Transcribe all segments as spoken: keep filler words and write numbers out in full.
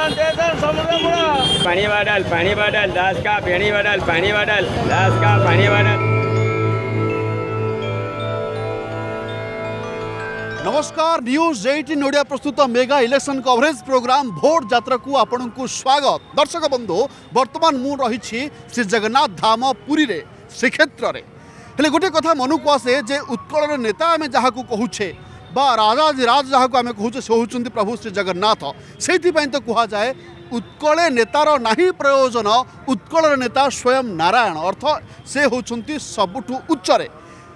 पानी बादल पानी बादल दास का पेणी बादल पानी बादल दास का पानी बादल। नमस्कार, न्यूज एटीन ओडिया प्रस्तुत mega election coverage programme vote Jatra को आपण को स्वागत। दर्शक बंधु, वर्तमान मु रही श्री जगन्नाथ धाम पुरी रे श्रीक्षेत्र रे। हेले गोटे कथा मन को आसे जे उत्कल नेता आम जहाँ को कहूछे बा राजाधिराज जहाँ को आम कहूछे से होउछंती प्रभु श्री जगन्नाथ। सेइथिपाई तो कहा जाए उत्कले नेतार नाही प्रयोजन, उत्कलर नेता स्वयं नारायण, अर्थ से होउछंती सबुठु उच्चरे।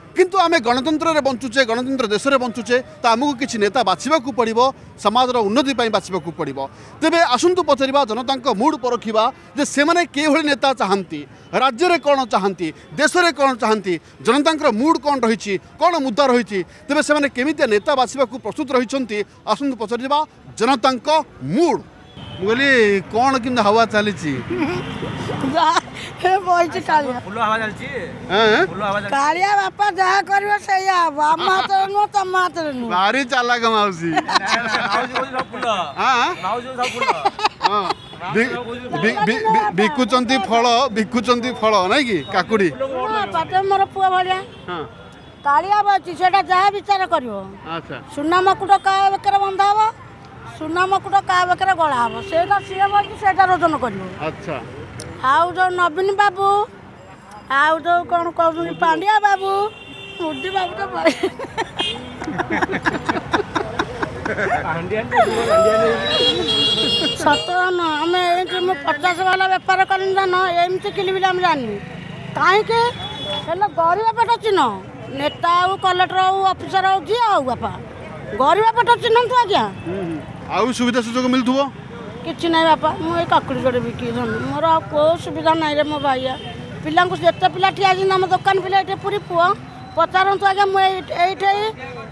किंतु आम गणतंत्र बंचुचे, गणतंत्र देश में बंचुचे, तो आमको किसी नेता बाछिवाक पड़ो, समाज उन्नति बाछिवाक पड़ो। तेरे आसतु पचार जनता मुड परखा जे सेमाने केभଳି नेता चाहती, राज्य में कौन चाहती, देश में कौन चाहती, जनता मुड कौन रही, कौन मुद्दा रही, तेरे से केमितिया नेता बाछिवाक प्रस्तुत रही। आसतु पचार जनता मुड। मुझे कौन कि हवा चली कालिया बापा जहा करबो सेया हबो, आम हातरे नुह तम हातरे नुह। भारी चालाक माउसी। हां बिकुचंती फल, बिकुचंती फल नाइ कि काकुड़ी पाटे मोर पुआ भलिया। हां कालिया बची सेटा जहा विचार करबो। अच्छा, सुना मकुट का बेकर बंधा हबो, सुना मकुट का बेकर गळा हबो, सेटा सिए बची सेटा रोजन करबो। अच्छा, आउ जो नवीन बाबू आउ जो कौन कौन पांडिया बाबू मोदी बाबू तो सत न आम एमती पचास वाला बेपार कली धान एमती किणवि आम जानी कहीं गरीब पेट चिन्ह नेता हो कलेक्टर हो अफिसर हो जी हो बापा गरीब पेट चिन्हतु आज्ञा। आउ सुविधा सुजोग मिलथुवो? କିଛି ନାହିଁ ବାପା, ମୁଁ ଏଇ କାକୁଡ଼ି ଯୋଡ଼େ ବିକି ଧନୁ, ମୋର ଆଉ କେଉଁ ସୁବିଧା ନାହିଁ ରେ ମୋ ଭାଇଆ। ପିଲାଙ୍କୁ ଯେତେ ପିଲା ଠିଆ ହେଇଛନ୍ତି ଆମ ଦୋକାନ ପିଲା ଏଠି ପୁରୀ ପୁଅ ପଚାରନ୍ତୁ ଆଜ୍ଞା, ମୁଁ ଏଇଠି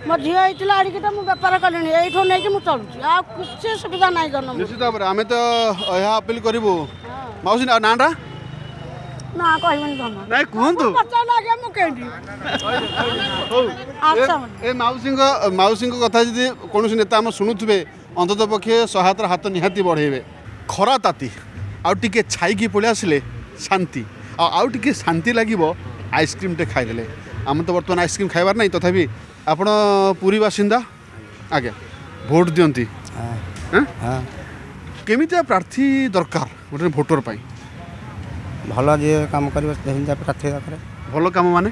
ମୋ ଝିଅ ହେଇଥିଲା ଆଣିକି ତ ମୁଁ ବେପାର କଲିଣି, ଏଇଠୁ ନେଇକି ମୁଁ ଚଳୁଛି, ଆଉ କିଛି ସୁବିଧା ନାହିଁ ଧନ। ନିଶ୍ଚିତ ଭାବରେ ଆମେ ତ ଏହା ଅପିଲ କରିବୁ। ମାଉସୀ ନାଁଟା? ନା କହିବେନି ଧନ। ନାଇଁ କୁହନ୍ତୁ। ପଚାରିଲେ ଆଜ୍ଞା ମୁଁ କେମିତି। ହଉ, ଏ ମାଉସୀଙ୍କ ମାଉସୀଙ୍କ କଥା ଯଦି କୌଣସି ନେତା ଆମ ଶୁଣୁଥିବେ, ଅନ୍ତତଃ ପକ୍ଷେ ସହାୟତାର ହାତ ନିହାତି ବଢ଼େଇବେ। ଖରା ତାତି ଆଉ ଟିକେ ଛାଇକି ପଳେଇ ଆସିଲେ ଶାନ୍ତି, ଆଉ ଆଉ ଟିକେ ଶାନ୍ତି ଲାଗିବ ଆଇସ୍କ୍ରିମ୍ଟେ ଖାଇଦେଲେ। ଆମେ ତ ବର୍ତ୍ତମାନ ଆଇସ୍କ୍ରିମ୍ ଖାଇବାର ନାହିଁ, ତଥାପି ଆପଣ ପୁରୀ ବାସିନ୍ଦା ଆଜ୍ଞା, ଭୋଟ ଦିଅନ୍ତି, କେମିତିଆ ପ୍ରାର୍ଥୀ ଦରକାର ଗୋଟେ ଭୋଟର ପାଇଁ? ଭଲ ଯିଏ କାମ କରିବ ସେମିତିଆ ପ୍ରାର୍ଥୀ ଦରକାର। ଭଲ କାମ ମାନେ?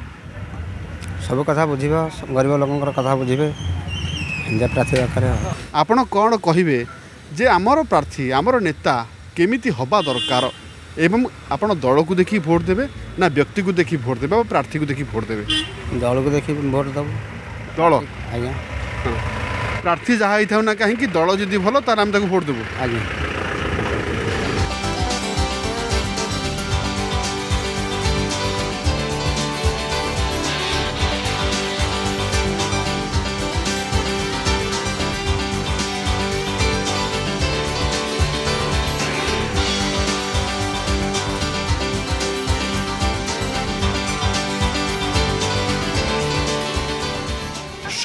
ସବୁ କଥା ବୁଝିବ, ଗରିବ ଲୋକଙ୍କର କଥା ବୁଝିବେ, ପ୍ରାର୍ଥୀ ଦରକାର। ଆପଣ କ'ଣ କହିବେ ଯେ ଆମର ପ୍ରାର୍ଥୀ ଆମର ନେତା କେମିତି ହେବା ଦରକାର, ଏବଂ ଆପଣ ଦଳକୁ ଦେଖି ଭୋଟ ଦେବେ ନା ବ୍ୟକ୍ତିକୁ ଦେଖି ଭୋଟ ଦେବେ ବା ପ୍ରାର୍ଥୀକୁ ଦେଖି ଭୋଟ ଦେବେ? ଦଳକୁ ଦେଖି ଭୋଟ ଦେବୁ। ଦଳ? ଆଜ୍ଞା। ପ୍ରାର୍ଥୀ ଯାହା ହେଇଥାଉ ନା କାହିଁକି, ଦଳ ଯଦି ଭଲ ତାହେଲେ ଆମେ ତାକୁ ଭୋଟ ଦେବୁ। ଆଜ୍ଞା।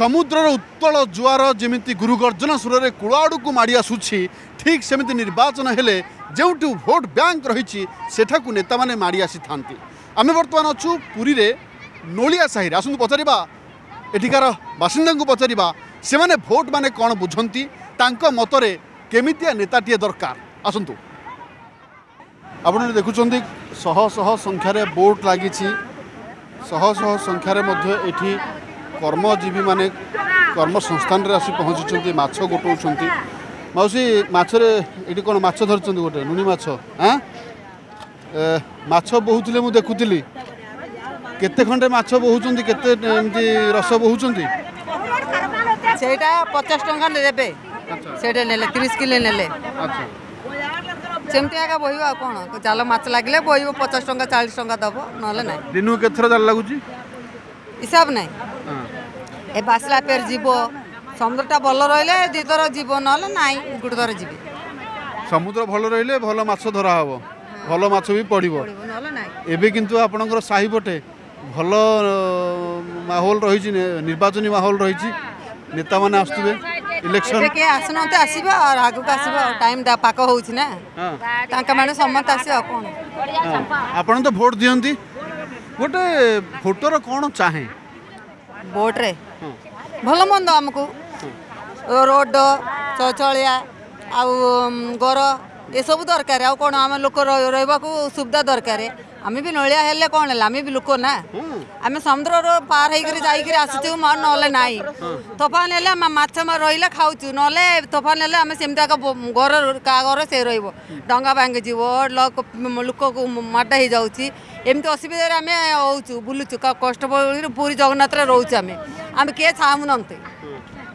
समुद्रर उत्तल जुआर जमी गुरुगर्जन सुर में कूल आड़क माड़ी आसूसी, ठीक सेमती निर्वाचन हेले जो भोट बैंक रही सेठा को नेता मैंने माड़ी आसी था। आम बर्तमान अच्छु पुरी रे नोलिया साही। आसतु पचार एठिकार बासिंदा को पचार से माने भोट माने कौन बुझंती, तांक मतरे केमितिया नेताटीए दरकार। आसतु आपण देखुं शह शह संख्यार बोट लगी, शह शह संख्यार एठी कर्मजीवी माने कर्म संस्थान रे आसी पहुंची माछ गोटाउछंती। माउसी माछरे एठी कोन माछ धरछंती? गोटे नुनी माछ। हां, माछ बहुतले मु देखुतली, केते खंडे माछ बहुछंती, केते एमती रस बहुछंती? सेटा पचास टंका देबे, सेटा नेले तीस किलो नेले। अच्छा, सेमती आगा बहिबो आ कोन जाल माछ लागले बहिबो पचास टंका चालीस टंका दबो, नहले नाही। दिनु केथर जाल लागुची? हिसाब नाही, ए बासला पेर जीवो, समुद्रटा भल रहिले दुई थर जीवो, नहले नाही गोटे थर जीवे। समुद्र भल रहिले भल माछ धरा हबो, भल माछ भी पड़िबो, नहले नाही। एबे किन्तु आपणकर साही पटे भल माहौल रही, निर्वाचनी माहौल रही, नेता माने आसुथिबे? ଇଲେକ୍ସନ ଏବେ କିଏ ଆସୁନାହାନ୍ତି, ଆସିବ ଆଉ ଆଗକୁ ଆସିବ, ଟାଇମ୍ ପାକ ହେଉଛି ନା, ତାଙ୍କ ମାନେ ସମସ୍ତେ ଆସିବ ଆଉ କ'ଣ। ଆପଣ ତ ଭୋଟ ଦିଅନ୍ତି, ଗୋଟେ ଭୋଟର କ'ଣ ଚାହେଁ? ଭୋଟରେ ଭଲ ମନ୍ଦ ଆମକୁ ରୋଡ଼, ଶୌଚାଳୟ ଆଉ ଘର ଏସବୁ ଦରକାର। ଆଉ କ'ଣ, ଆମ ଲୋକ ରହିବାକୁ ସୁବିଧା ଦରକାର। ଆମେ ବି ନଳିଆ ହେଲେ କ'ଣ ହେଲା, ଆମେ ବି ଲୋକ ନା। ଆମେ ସମୁଦ୍ରର ପାର ହେଇକରି ଯାଇକରି ଆସୁଛୁ, ନହେଲେ ନାହିଁ। ତୋଫାନ ହେଲେ ଆମେ ମାଛ ରହିଲେ ଖାଉଛୁ, ନହେଲେ ତୋଫାନ ହେଲେ ଆମେ ସେମିତି ଏକା ଘର କାହା ଘର ସେ ରହିବ, ଡଙ୍ଗା ଭାଙ୍ଗିଯିବ, ଲୋକକୁ ମାଡ଼ ହେଇଯାଉଛି। ଏମିତି ଅସୁବିଧାରେ ଆମେ ହେଉଛୁ, ବୁଲୁଛୁ କଷ୍ଟ ପୁରୀ ଜଗନ୍ନାଥରେ ରହୁଛୁ ଆମେ। ଆମେ କିଏ ଚାହୁଁନାହାନ୍ତି,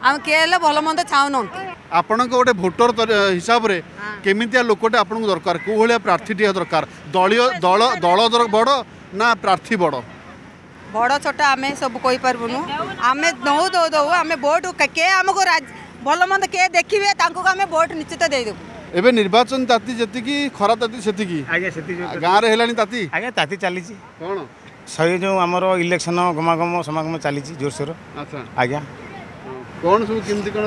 ଆମେ କିଏ ହେଲେ ଭଲ ମନ୍ଦ ଚାହୁଁନାହାନ୍ତି। ଆପଣଙ୍କ ଗୋଟେ ଭୋଟର ହିସାବରେ କେମିତିଆ ଲୋକଟେ ଆପଣଙ୍କୁ ଦରକାର, କେଉଁ ଭଳିଆ ପ୍ରାର୍ଥୀଟିଏ ଦରକାର? ଦଳୀୟ ଦଳ ଦଳ ବଡ଼ ନା ପ୍ରାର୍ଥୀ ବଡ଼? ବଡ଼ ଛୋଟ ଆମେ ସବୁ କହିପାରିବୁନୁ। ଆମେ ନଉ ଦଉ ଦଉ ଆମେ ଭୋଟ କିଏ ଆମକୁ ଭଲ ମନ୍ଦ କିଏ ଦେଖିବେ ତାଙ୍କୁ ଆମେ ଭୋଟ ନିଶ୍ଚିତ ଦେଇଦେବୁ। ଏବେ ନିର୍ବାଚନ ତାତି ଯେତିକି, ଖରା ତାତି ସେତିକି। ଆଜ୍ଞା ସେତିକି। ଗାଁରେ ହେଲାଣି ତାତି? ଆଜ୍ଞା ତାତି ଚାଲିଛି। କ'ଣ ଶହେ ଯେଉଁ ଆମର ଇଲେକ୍ସନ ଗମାଗମ ସମାଗମ ଚାଲିଛି ଜୋରସୋର। ଆଚ୍ଛା ଆଜ୍ଞା। କ'ଣ ସବୁ କେମିତି କ'ଣ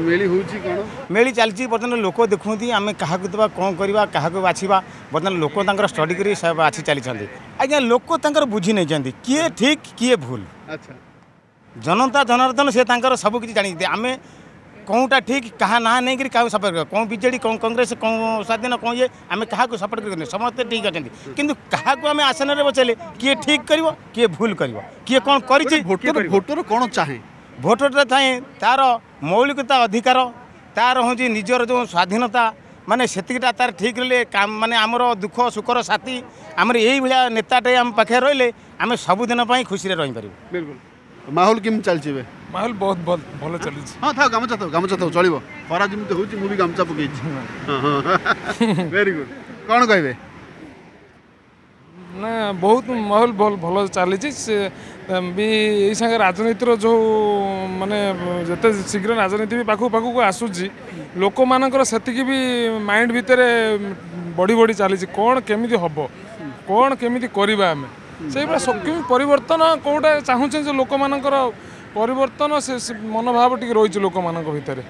ମେଳି ହେଉଛି? କ'ଣ ମେଳି ଚାଲିଛି ବର୍ତ୍ତମାନ, ଲୋକ ଦେଖୁଛନ୍ତି ଆମେ କାହାକୁ ଦେବା, କ'ଣ କରିବା, କାହାକୁ ବାଛିବା। ବର୍ତ୍ତମାନ ଲୋକ ତାଙ୍କର ଷ୍ଟଡି କରି ବାଛି ଚାଲିଛନ୍ତି ଆଜ୍ଞା। ଲୋକ ତାଙ୍କର ବୁଝି ନେଇଛନ୍ତି କିଏ ଠିକ୍ କିଏ ଭୁଲ। ଆଚ୍ଛା। ଜନତା ଜନାର୍ଦ୍ଦନ ସେ ତାଙ୍କର ସବୁ କିଛି ଜାଣିଛନ୍ତି, ଆମେ କେଉଁଟା ଠିକ୍, କାହା ନାଁ ନେଇକରି କାହାକୁ ସପୋର୍ଟ କରିବା, କେଉଁ ବିଜେଡ଼ି, କେଉଁ କଂଗ୍ରେସ, କେଉଁ ସ୍ୱାଧୀନ, କେଉଁ ଇଏ, ଆମେ କାହାକୁ ସପୋର୍ଟ କରିବୁନି, ସମସ୍ତେ ଠିକ୍ ଅଛନ୍ତି। କିନ୍ତୁ କାହାକୁ ଆମେ ଆସନରେ ବସେଇଲେ କିଏ ଠିକ୍ କରିବ, କିଏ ଭୁଲ କରିବ, କିଏ କ'ଣ କରିଛି। ଭୋଟର ଭୋଟର କ'ଣ ଚାହେଁ? ଭୋଟରଟା ଚାହେଁ ତାର ମୌଳିକତା ଅଧିକାର, ତାର ହେଉଛି ନିଜର ଯେଉଁ ସ୍ୱାଧୀନତା, ମାନେ ସେତିକିଟା ତାର ଠିକ୍ ରହିଲେ ମାନେ ଆମର ଦୁଃଖ ସୁଖର ସାଥୀ ଆମର ଏଇଭଳିଆ ନେତାଟେ ଆମ ପାଖରେ ରହିଲେ ଆମେ ସବୁଦିନ ପାଇଁ ଖୁସିରେ ରହିପାରିବୁ। ବିଲକୁଲ। ମାହୋଲ କେମିତି ଚାଲିଛି ଏବେ? ମାହୋଲ ବହୁତ ଭଲ ଭଲ ଚାଲିଛି। ହଁ ଥାଉ, ଗାମୁଛା ଥାଉ, ଗାମୁଛା ଥାଉ, ଚଳିବ। ଖରା ଯେମିତି ହେଉଛି ମୁଁ ବି ଗାମୁଛା ପକେଇଛି। Very good. କ'ଣ କହିବେ? ନା ବହୁତ ମାହୋଲ ଭଲ ଭଲ ଚାଲିଛି। ସେ ବି ଏଇ ସାଙ୍ଗେ ରାଜନୀତିର ଯେଉଁ ମାନେ ଯେତେ ଶୀଘ୍ର ରାଜନୀତି ବି ପାଖକୁ ପାଖକୁ ଆସୁଛି, ଲୋକମାନଙ୍କର ସେତିକି ବି ମାଇଣ୍ଡ ଭିତରେ ବଢ଼ି ବଢ଼ି ଚାଲିଛି, କ'ଣ କେମିତି ହେବ, କ'ଣ କେମିତି କରିବା ଆମେ। ସେଇଭଳିଆ କେମିତି ପରିବର୍ତ୍ତନ କେଉଁଟା ଚାହୁଁଛନ୍ତି ଯେ ଲୋକମାନଙ୍କର ପରିବର୍ତ୍ତନ, ସେ ମନୋଭାବ ଟିକେ ରହିଛି ଲୋକମାନଙ୍କ ଭିତରେ।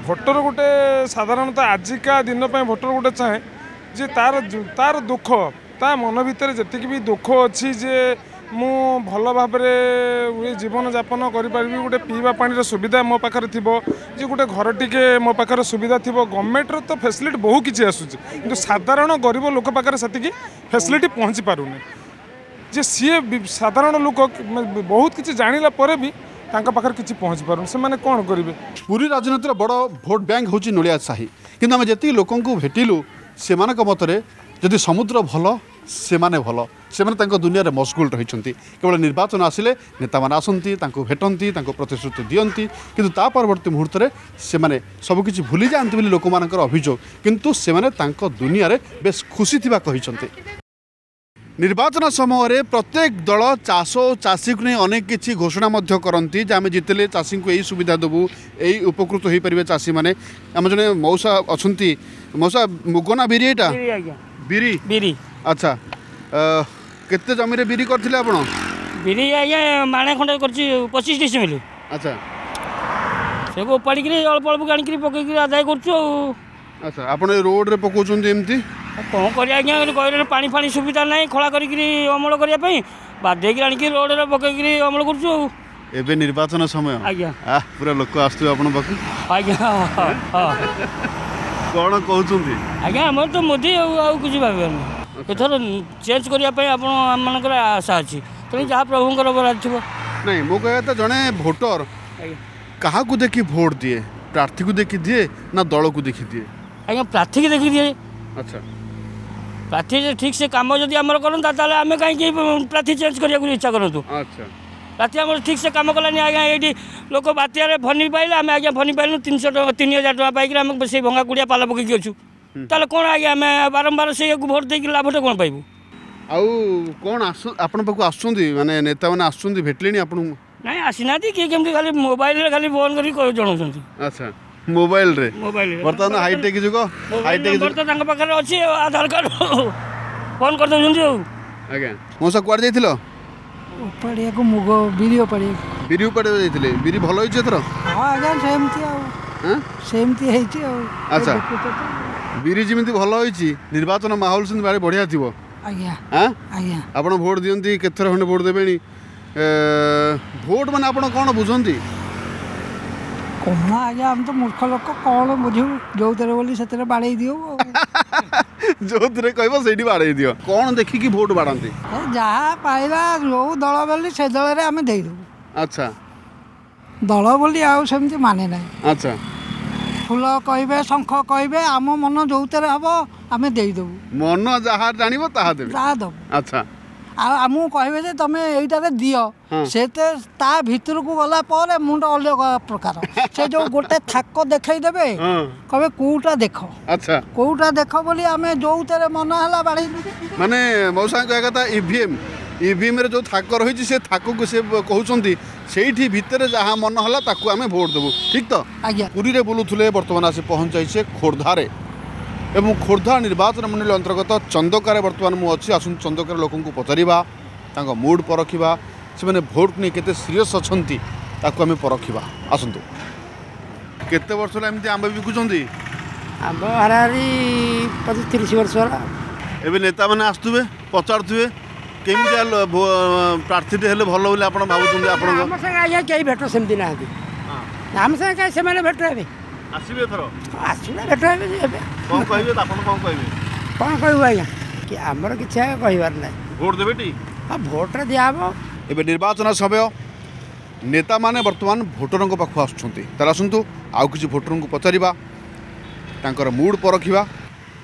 ଭୋଟର ଗୋଟେ ସାଧାରଣତଃ ଆଜିକା ଦିନ ପାଇଁ ଭୋଟର ଗୋଟେ ଚାହେଁ ଯେ ତାର ତାର ଦୁଃଖ, ତା ମନ ଭିତରେ ଯେତିକି ବି ଦୁଃଖ ଅଛି ଯେ ମୁଁ ଭଲ ଭାବରେ ଜୀବନଯାପନ କରିପାରିବି, ଗୋଟେ ପିଇବା ପାଣିର ସୁବିଧା ମୋ ପାଖରେ ଥିବ, ଯେ ଗୋଟେ ଘର ଟିକେ ମୋ ପାଖରେ ସୁବିଧା ଥିବ। ଗଭର୍ଣ୍ଣମେଣ୍ଟର ତ ଫେସିଲିଟି ବହୁ କିଛି ଆସୁଛି, କିନ୍ତୁ ସାଧାରଣ ଗରିବ ଲୋକ ପାଖରେ ସେତିକି ଫେସିଲିଟି ପହଞ୍ଚି ପାରୁନି। ଯେ ସିଏ ସାଧାରଣ ଲୋକ ବହୁତ କିଛି ଜାଣିଲା ପରେ ବି ତାଙ୍କ ପାଖରେ କିଛି ପହଞ୍ଚି ପାରୁନି, ସେମାନେ କ'ଣ କରିବେ? ପୁରୀ ରାଜନୀତିର ବଡ଼ ଭୋଟ ବ୍ୟାଙ୍କ ହେଉଛି ନଳିଆ ସାହି। କିନ୍ତୁ ଆମେ ଯେତିକି ଲୋକଙ୍କୁ ଭେଟିଲୁ ସେମାନଙ୍କ ମତରେ ଯଦି ସମୁଦ୍ର ଭଲ, ସେମାନେ ଭଲ, ସେମାନେ ତାଙ୍କ ଦୁନିଆରେ ମସଗୁଲ ରହିଛନ୍ତି। କେବଳ ନିର୍ବାଚନ ଆସିଲେ ନେତାମାନେ ଆସନ୍ତି, ତାଙ୍କୁ ଭେଟନ୍ତି, ତାଙ୍କୁ ପ୍ରତିଶ୍ରୁତି ଦିଅନ୍ତି, କିନ୍ତୁ ତା ପରବର୍ତ୍ତୀ ମୁହୂର୍ତ୍ତରେ ସେମାନେ ସବୁକିଛି ଭୁଲି ଯାଆନ୍ତି ବୋଲି ଲୋକମାନଙ୍କର ଅଭିଯୋଗ। କିନ୍ତୁ ସେମାନେ ତାଙ୍କ ଦୁନିଆରେ ବେଶ ଖୁସି ଥିବା କହିଛନ୍ତି। ନିର୍ବାଚନ ସମୟରେ ପ୍ରତ୍ୟେକ ଦଳ ଚାଷ ଓ ଚାଷୀକୁ ନେଇ ଅନେକ କିଛି ଘୋଷଣା ମଧ୍ୟ କରନ୍ତି ଯେ ଆମେ ଜିତିଲେ ଚାଷୀଙ୍କୁ ଏଇ ସୁବିଧା ଦେବୁ, ଏଇ ଉପକୃତ ହୋଇପାରିବେ ଚାଷୀମାନେ। ଆମ ଜଣେ ମଉସା ଅଛନ୍ତି। ମଉସା, ମୁଗ ନା ବିରି? ଏଇଟା ବିରି। ବିରି। ଆଚ୍ଛା, କେତେ ଜମିରେ ବିରି କରିଥିଲେ ଆପଣ? ବିରି ଆଜ୍ଞା ମାଣେ ଖଣ୍ଡେ କରିଛି, ପଚିଶ ଡିସିମିଲ। ଆଚ୍ଛା। ସେକୁ ଉପାଡ଼ିକିରି ଅଳ୍ପ ଅଳ୍ପ ଆଣିକିରି ପକେଇକିରି ଆଦାୟ କରୁଛୁ ଆଉ। ଆଚ୍ଛା, ଆପଣ ଏ ରୋଡ଼ରେ ପକାଉଛନ୍ତି ଏମିତି? କ'ଣ କରିବା ଆଜ୍ଞା, କହିଲେ ପାଣି ଫାଣି ସୁବିଧା ନାହିଁ ଖଳା କରିକିରି ଅମଳ କରିବା ପାଇଁ, ବାଧ୍ୟ ହେଇକି ଆଣିକି ରୋଡ଼ରେ ପକେଇକିରି ଅମଳ କରୁଛୁ ଆଉ। ଏବେ ନିର୍ବାଚନ ସମୟ ଆଜ୍ଞା, ପୁରା ଲୋକ ଆସୁଥିବେ ଆପଣଙ୍କ ପାଖକୁ? ଆଜ୍ଞା। ହଁ। କ'ଣ କହୁଛନ୍ତି? ଆଜ୍ଞା ଆମର ତ ମୋଦି, ଆଉ ଆଉ କିଛି ଭାବିବାନି। ଏଥର ଚେଞ୍ଜ କରିବା ପାଇଁ ଆପଣ ଆମମାନଙ୍କର ଆଶା ଅଛି, ତେଣୁ ଯାହା ପ୍ରଭୁଙ୍କର ବରାଦ ଥିବ। ନାଇଁ, ମୋ କହିବା କଥା ଜଣେ ଭୋଟର କାହାକୁ ଦେଖି ଭୋଟ ଦିଏ? ପ୍ରାର୍ଥୀକୁ ଦେଖି ଦିଏ ନା ଦଳକୁ ଦେଖି ଦିଏ? ଆଜ୍ଞା ପ୍ରାର୍ଥୀକି ଦେଖି ଦିଏ। ଆଚ୍ଛା। ପ୍ରାର୍ଥୀ ଠିକ୍ ସେ କାମ ଯଦି ଆମର କରନ୍ତା ତାହେଲେ ଆମେ କାହିଁକି ପ୍ରାର୍ଥୀ ଚେଞ୍ଜ କରିବାକୁ ଇଚ୍ଛା କରନ୍ତୁ। ଆଚ୍ଛା। ପ୍ରାର୍ଥୀ ଆମର ଠିକ୍ ସେ କାମ କଲାନି ଆଜ୍ଞା। ଏଇଠି ଲୋକ ବାତ୍ୟାରେ ଫନି ପାଇଲେ, ଆମେ ଆଜ୍ଞା ଫନି ପାଇଲୁ ତିନିଶହ ଟଙ୍କା, ତିନି ହଜାର ଟଙ୍କା ପାଇକିରି ଆମେ ସେଇ ଭଙ୍ଗା କୁଡ଼ିଆ ପାଲ ପକେଇକି ଅଛୁ। ତାହେଲେ କ'ଣ ଆଜ୍ଞା ଆମେ ବାରମ୍ବାର ସେଇଆକୁ ଭୋଟ ଦେଇକି ଲାଭଟା କ'ଣ ପାଇବୁ? ଆଉ କ'ଣ ଆସୁ ଆପଣଙ୍କ ପାଖକୁ ଆସୁଛନ୍ତି, ମାନେ ନେତାମାନେ ଆସୁଛନ୍ତି, ଭେଟିଲେଣି ଆପଣଙ୍କୁ? ନାଇଁ ଆସିନାହାନ୍ତି, କିଏ କେମିତି ଖାଲି ମୋବାଇଲରେ ଖାଲି ଫୋନ୍ କରିକି ଜଣାଉଛନ୍ତି। ଆଚ୍ଛା, ମୋବାଇଲରେ? ମୋବାଇଲରେ। ବର୍ତ୍ତମାନ ହାଇଟେକ୍ ଯୁଗ, ହାଇଟେକ୍ ଯୁଗ ତ ତାଙ୍କ ପାଖରେ ଅଛି, ଆଧାର କାର୍ଡ଼ ଫୋନ୍ କରିଦେଉଛନ୍ତି ଆଉ। ଆଜ୍ଞା ମଉସା, କୁଆଡ଼େ ଯାଇଥିଲ? ଉପାଡ଼ିବାକୁ, ମୁଗ ବିରି ଉପାଡ଼ିବାକୁ। ବିରି ଉପାଡ଼ିବାକୁ ଯାଇଥିଲେ? ବିରି ଭଲ ହେଇଛି ଏଥର? ହଁ ଆଜ୍ଞା ସେମିତି ଆଉ। ସେମିତି ହେଇଛି ଆଉ। ଆଚ୍ଛା, ବିରି ଯେମିତି ଭଲ ହେଇଛି, ନିର୍ବାଚନ ମାହୋଲ ସେମିତି ଭାରି ବଢ଼ିଆ ଥିବ। ଆଜ୍ଞା ଆଜ୍ଞା। ଆପଣ ଭୋଟ ଦିଅନ୍ତି? କେତେଥର ଖଣ୍ଡେ ଭୋଟ ଦେବେଣି? ଭୋଟ ମାନେ ଆପଣ କ'ଣ ବୁଝନ୍ତି? କ'ଣ ଆଜ୍ଞା, ଆମେ ତ ମୂର୍ଖ ଲୋକ, କ'ଣ ବୁଝିବୁ? ଯୋଉଥିରେ ବୋଲି ସେଥିରେ ବାଡ଼େଇ ଦିଉ। ଯୋଉଥିରେ କହିବ ସେଇଠି ବାଡ଼େଇ ଦିଅ। କ'ଣ ଦେଖିକି ଭୋଟ ବାଡ଼ାନ୍ତି? ଯାହା ପାଇଲା, ଯୋଉ ଦଳ ବୋଲି ସେ ଦଳରେ ଆମେ ଦେଇଦେବୁ। ଆଚ୍ଛା। ଦଳ ବୋଲି ଆଉ ସେମିତି ମାନେ ନାହିଁ। ଆଚ୍ଛା। ଫୁଲ କହିବେ, ଶଙ୍ଖ କହିବେ, ଆମ ମନ ଯୋଉଥିରେ ହବ ଆମେ ଦେଇଦେବୁ। ମନ ଯାହା ଜାଣିବ ତାହା ଦେବେ, ତାହା ଦେବୁ। ଆଚ୍ଛା। ଆଉ ଆମକୁ କହିବେ ଯେ ତମେ ଏଇଟାରେ ଦିଅ, ସେ ତା ଭିତରକୁ ଗଲା ପରେ ମୁଣ୍ଡ ଅଲଗା ପ୍ରକାର। ସେ ଯୋଉ ଗୋଟେ ଥାକ ଦେଖେଇ ଦେବେ, କହିବେ କୋଉଟା ଦେଖ। ଆଚ୍ଛା। କୋଉଟା ଦେଖ ବୋଲି ଆମେ ଯୋଉଥିରେ ମନ ହେଲା ବାଢ଼େଇ। ମାନେ ମଉସାଙ୍କ କହିବା କଥା, ଇଭିଏମ୍ ଇଭିଏମ୍ରେ ଯେଉଁ ଥାକ ରହିଛି, ସେ ଥାକକୁ ସେ କହୁଛନ୍ତି ସେଇଠି ଭିତରେ ଯାହା ମନ ହେଲା ତାକୁ ଆମେ ଭୋଟ ଦେବୁ। ଠିକ୍ ତ? ଆଜ୍ଞା। ପୁରୀରେ ବୁଲୁଥିଲେ, ବର୍ତ୍ତମାନ ଆସି ପହଞ୍ଚାଇଛେ ଖୋର୍ଦ୍ଧାରେ ଏବଂ ଖୋର୍ଦ୍ଧା ନିର୍ବାଚନ ମଣ୍ଡଳୀ ଅନ୍ତର୍ଗତ ଚନ୍ଦକାରେ ବର୍ତ୍ତମାନ ମୁଁ ଅଛି। ଆସନ୍ତୁ ଚନ୍ଦକାର ଲୋକଙ୍କୁ ପଚାରିବା, ତାଙ୍କ ମୁଡ୍ ପରଖିବା, ସେମାନେ ଭୋଟକୁ ନେଇ କେତେ ସିରିୟସ୍ ଅଛନ୍ତି ତାକୁ ଆମେ ପରଖିବା। ଆସନ୍ତୁ। କେତେ ବର୍ଷ ହେଲା ଏମିତି ଆମ୍ବ ବିକୁଛନ୍ତି? ଆମ୍ବ ହାରାହାରି ପଚିଶ ତିରିଶ ବର୍ଷ ହେଲା। ଏବେ ନେତାମାନେ ଆସୁଥିବେ, ପଚାରୁଥିବେ କେମିତିଆ ପ୍ରାର୍ଥୀଟେ ହେଲେ ଭଲ ବୋଲି ଆପଣ ଭାବୁଛନ୍ତି? ଆପଣଙ୍କ ଆମ ସାଙ୍ଗେ ଆଜ୍ଞା କେହି ଭେଟ ସେମିତି ନାହାନ୍ତି। ଆମ ସାଙ୍ଗେ କାହିଁ ସେମାନେ ଭେଟ ହେବେ? ଆସିବେ ଏଥର? ଆସିଲେ ଭେଟ ହେବେ ଏବେ। କ'ଣ କହିବେ ଆପଣ? କ'ଣ କହିବେ? କ'ଣ କହିବୁ ଆଜ୍ଞା, କି ଆମର କିଛି ଆଜ୍ଞା କହିବାର ନାହିଁ। ଭୋଟ ଦେବେ ଟି? ହଁ, ଭୋଟରେ ଦିଆହେବ। ଏବେ ନିର୍ବାଚନ ସମୟ, ନେତାମାନେ ବର୍ତ୍ତମାନ ଭୋଟରଙ୍କ ପାଖକୁ ଆସୁଛନ୍ତି। ତାହେଲେ ଆସନ୍ତୁ ଆଉ କିଛି ଭୋଟରଙ୍କୁ ପଚାରିବା, ତାଙ୍କର ମୁଡ୍ ପରଖିବା।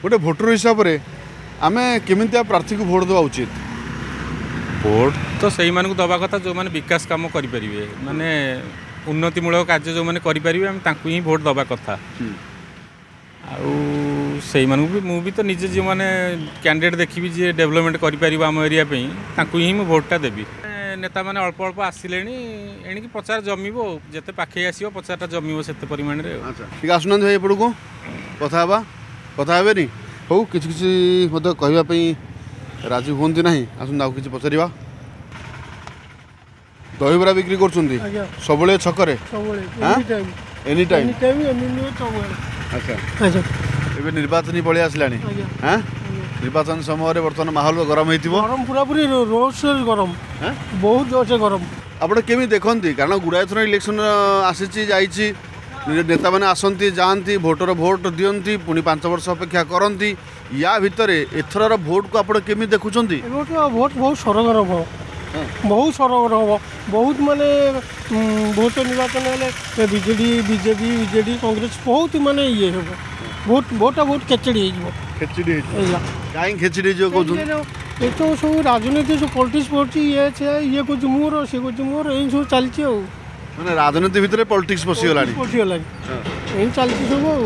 ଗୋଟେ ଭୋଟର ହିସାବରେ ଆମେ କେମିତିଆ ପ୍ରାର୍ଥୀକୁ ଭୋଟ ଦେବା ଉଚିତ? ଭୋଟ ତ ସେଇମାନଙ୍କୁ ଦେବା କଥା ଯେଉଁମାନେ ବିକାଶ କାମ କରିପାରିବେ, ମାନେ ଉନ୍ନତିମୂଳକ କାର୍ଯ୍ୟ ଯେଉଁମାନେ କରିପାରିବେ, ଆମେ ତାଙ୍କୁ ହିଁ ଭୋଟ ଦେବା କଥା। ଆଉ ସେଇମାନଙ୍କୁ ବି ମୁଁ ବି ତ ନିଜେ ଯେଉଁମାନେ କ୍ୟାଣ୍ଡିଡେଟ୍ ଦେଖିବି ଯିଏ ଡେଭଲପମେଣ୍ଟ କରିପାରିବ ଆମ ଏରିଆ ପାଇଁ, ତାଙ୍କୁ ହିଁ ମୁଁ ଭୋଟଟା ଦେବି। ନେତାମାନେ ଅଳ୍ପ ଅଳ୍ପ ଆସିଲେଣି, ଏଣିକି ପ୍ରଚାର ଜମିବ, ଯେତେ ପାଖେଇ ଆସିବ ପ୍ରଚାରଟା ଜମିବ ସେତେ ପରିମାଣରେ। ଟିକେ ଆସୁନାହାନ୍ତି ଭାଇ ଏପଟକୁ, କଥା ହେବା। କଥା ହେବେନି? ହଉ, କିଛି କିଛି ମଧ୍ୟ କହିବା ପାଇଁ ରାଜି ହୁଅନ୍ତି ନାହିଁ। ଆସନ୍ତୁ ଆଉ କିଛି ପଚାରିବା। ଦହିବରା ବିକ୍ରି କରୁଛନ୍ତି ସବୁବେଳେ ଛକରେ? Any time. ଆଚ୍ଛା, ଏବେ ନିର୍ବାଚନୀ ପଳେଇ ଆସିଲାଣି, ନିର୍ବାଚନ ସମୟରେ ବର୍ତ୍ତମାନ ମାହୋଲ ଗରମ ହେଇଥିବ? ଗରମ ପୁରାପୁରି ଜୋରସୋର ଗରମ, ବହୁତ ଜୋରସେ ଗରମ। ଆପଣ କେମିତି ଦେଖନ୍ତି? କାରଣ ଗୁଡ଼ାଏ ଥର ଇଲେକ୍ସନ ଆସିଛି ଯାଇଛି, ନେତାମାନେ ଆସନ୍ତି ଯାଆନ୍ତି, ଭୋଟର ଭୋଟ ଦିଅନ୍ତି, ପୁଣି ପାଞ୍ଚ ବର୍ଷ ଅପେକ୍ଷା କରନ୍ତି। ୟା ଭିତରେ ଏଥରର ଭୋଟକୁ ଆପଣ କେମିତି ଦେଖୁଛନ୍ତି? ଭୋଟ ବହୁତ ସରଗରମ ହେବ, ବହୁତ ସରଗରମ ହେବ, ବହୁତ ମାନେ ଭୋଟ ନିର୍ବାଚନ ହେଲେ ବିଜେଡ଼ି ବିଜେପି ବିଜେଡ଼ି କଂଗ୍ରେସ ବହୁତ ମାନେ ଇଏ ହେବ, ଭୋଟ ଭୋଟଟା ବହୁତ ଖେଚେଡ଼ି ହେଇଯିବ। ଖେଚେଡ଼ି ହେଇଯିବ? କାହିଁକି ଖେଚେଡ଼ି ହେଇଯିବ କହୁଛନ୍ତି? ଏ ତ ସବୁ ରାଜନୀତି ସବୁ ପଲିଟିକ୍ସ ପଡ଼ୁଛି, ଇଏ ସେ ଇଏ କହୁଛି ମୋର, ସିଏ କହୁଛି ମୋର, ଏଇ ସବୁ ଚାଲିଛି ଆଉ। ମାନେ ରାଜନୀତି ଭିତରେ ପଲିଟିକ୍ସ ପଶିଗଲାଣି? ପଶିଗଲାଣି, ଏମିତି ଚାଲିଛି ସବୁ ଆଉ।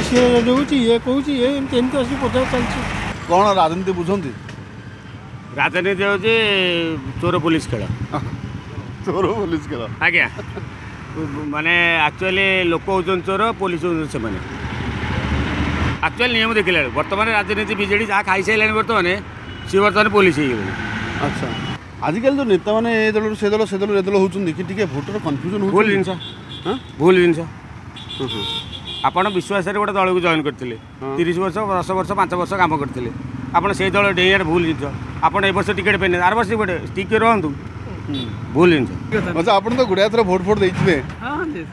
ସିଏ ଦେଉଛି, ଇଏ କହୁଛି, ଇଏ ଏମିତି ଏମିତି ଆସିକି ପ୍ରଚାର ଚାଲିଛି। କ'ଣ ରାଜନୀତି ବୁଝନ୍ତି? ରାଜନୀତି ହେଉଛି ଚୋର ପୋଲିସ ଖେଳ। ଚୋର ପୋଲିସ ଖେଳ? ଆଜ୍ଞା, ମାନେ ଆକ୍ଚୁଆଲି ଲୋକ ହେଉଛନ୍ତି ଚୋର, ପୋଲିସ ହେଉଛନ୍ତି ସେମାନେ। ଆକ୍ଚୁଆଲି ନିୟମ ଦେଖିଲା ବେଳକୁ ବର୍ତ୍ତମାନ ରାଜନୀତି ବିଜେଡ଼ି ଯାହା ଖାଇସାରିଲାଣି ବର୍ତ୍ତମାନ ସିଏ ବର୍ତ୍ତମାନ ପୋଲିସ ହେଇଗଲେଣି। ଆଚ୍ଛା, ଆଜିକାଲି ଯେଉଁ ନେତାମାନେ ଏ ଦଳରୁ ସେ ଦଳ, ସେ ଦଳରୁ ଏ ଦଳ ହେଉଛନ୍ତି କି ଟିକେ ଭୋଟର କନଫ୍ୟୁଜନ୍? ଭୁଲ ଜିନିଷ, ଭୁଲ ଜିନିଷ। ଆପଣ ବିଶ୍ୱାସରେ ଗୋଟେ ଦଳକୁ ଜଏନ୍ କରିଥିଲେ, ତିରିଶ ବର୍ଷ, ଦଶ ବର୍ଷ, ପାଞ୍ଚ ବର୍ଷ କାମ କରିଥିଲେ, ଆପଣ ସେଇ ଦଳ ଡେଇଁବାର ଭୁଲ ଜିନିଷ। ଆପଣ ଏ ବର୍ଷ ଟିକେଟ୍ ପାଇଲେ, ଆର ବର୍ଷ ଗୋଟେ ଟିକେ ରୁହନ୍ତୁ, ଭୁଲ ଜିନିଷ। ଆଚ୍ଛା, ଆପଣ ତ ଗୁଡ଼ାଏ ଥର ଭୋଟ ଫୋଟ ଦେଇଥିବେ,